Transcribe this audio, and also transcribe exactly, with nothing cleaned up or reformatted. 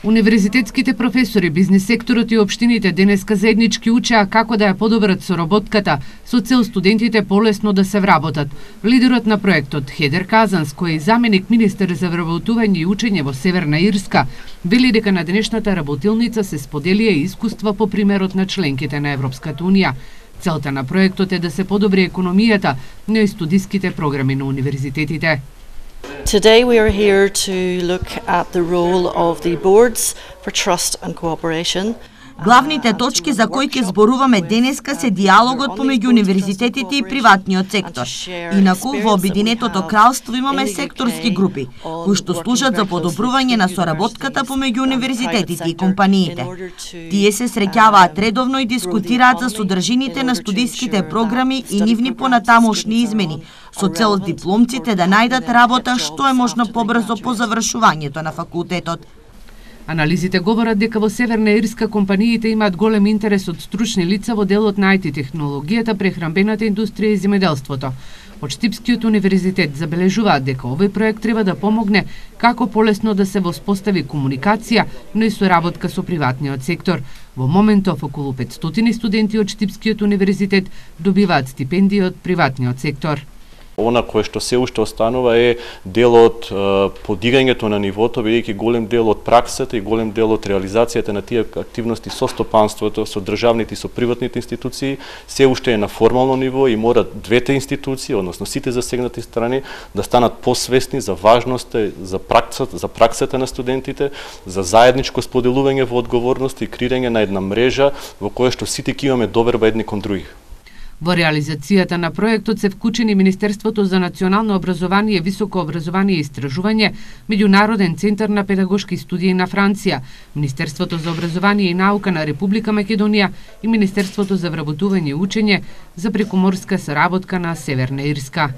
Универзитетските професори, бизнис секторот и општините денеска заеднички учеа како да ја подобрат соработката со цел студентите полесно да се вработат. Лидерот на проектот Хедер Казанс, кој е заменик министер за вработување и учење во Северна Ирска, вели дека на денешната работилница се споделија и искуства по примерот на членките на Европската унија. Целта на проектот е да се подобри економијата, но и студиските програми на универзитетите. Today we are here to look at the role of the boards for trust and cooperation. Главните точки за кои ќе зборуваме денеска се диалогот помеѓу универзитетите и приватниот сектор. Инаку во Обединетото кралство имаме секторски групи кои што служат за подобрување на соработката помеѓу универзитетите и компаниите. Тие се среќаваат редовно и дискутираат за содржините на студиските програми и нивни понатамошни измени, со цел дипломците да најдат работа што е можно побрзо по завршувањето на факултетот. Анализите говорат дека во Северна Ирска компаниите имаат голем интерес од стручни лица во делот на ай ти технологијата, прехранбената индустрија и земјоделството. Од Штипскиот универзитет забележуваат дека овој проект треба да помогне како полесно да се воспостави комуникација, но и соработка со приватниот сектор. Во моментов околу петстотини студенти од Штипскиот универзитет добиваат стипендии од приватниот сектор. Она кое што се уште останува е дел од подигањето на нивото, бидејќи голем дел од праксата и голем дел од реализацијата на тие активности со стопанството, со државните и со приватните институции, се уште е на формално ниво и мора двете институции, односно сите засегнати страни, да станат посвесни за важноста за праксата, за праксата на студентите, за заедничко споделување во одговорност и креирање на една мрежа во која што сите ќе имаме доверба едни кон други. Во реализацијата на проектот се вклучени Министерството за национално образование, високо образование и истражување, Меѓународен центар на педагошки студии на Франција, Министерството за образование и наука на Република Македонија и Министерството за вработување и учење за прекуморска соработка на Северна Ирска.